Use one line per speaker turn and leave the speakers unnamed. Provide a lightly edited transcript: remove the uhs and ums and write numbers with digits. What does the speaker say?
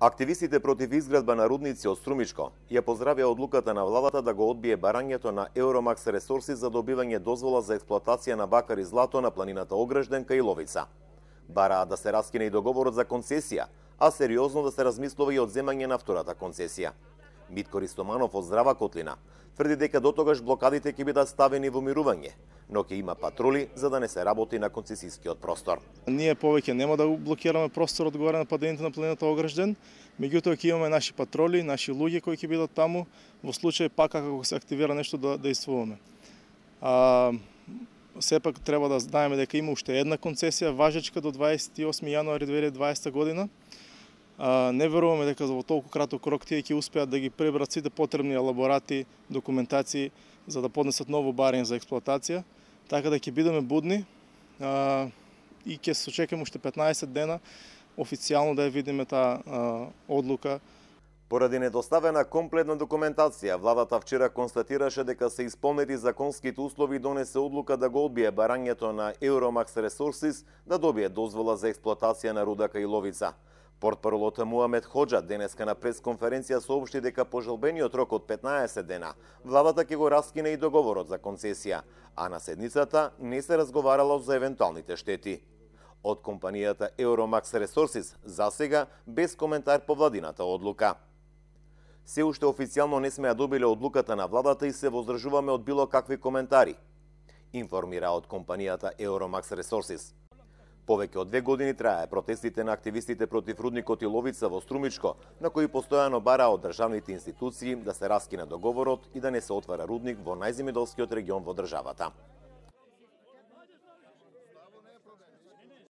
Активистите против изградба на рудници од Струмичко ја поздравија одлуката на владата да го одбие барањето на Euromax Resources за добивање дозвола за експлоатација на бакар и злато на планината Огражден кај Ловица. Бараа да се раскине и договорот за концесија, а сериозно да се размислува и одземање на втората концесија. Митко Ристоманов од Здрава Котлина тврди дека дотогаш блокадите ќе бидат ставени во мирување, но ќе има патрули за да не се работи на концесискиот простор.
Ние повеќе нема да блокираме просторот горе на падените на планината Огражден, меѓутоа ќе имаме наши патрули, наши луѓе кои ќе бидат таму во случај пак ако се активира нешто да действуваме. Сепак треба да знаеме дека има уште една концесија важечка до 28 јануари 2020 година. Не веруваме дека во толку краток рок тие ќе успеат да ги пребрат сите потребни елаборати, документации за да поднесат ново барање за експлоатација, така да ќе бидеме будни и ќе се очекаме уште 15 дена официјално да ја видиме таа одлука.
Поради недоставена комплетна документација, владата вчера констатираше дека се исполнети законските услови и донесе одлука да го одбие барањето на Euromax Resources да добие дозвола за експлоатација на руда кај Ловица. Портпаролот Муамед Хоџа денеска на пресконференција соопшти дека по желбениот рок од 15 дена, владата ќе го раскине и договорот за концесија, а на седницата не се разговарало за евентуалните штети. Од компанијата Euromax Resources засега без коментар по владината одлука. Се уште официјално не сме ја добиле одлуката на владата и се воздржуваме од било какви коментари, информира од компанијата Euromax Resources. Повеќе од 2 години трае протестите на активистите против рудникот и Ловица во Струмичко, на кои постојано бараа од државните институции да се раскине договорот и да не се отвара рудник во најземјоделскиот регион во државата.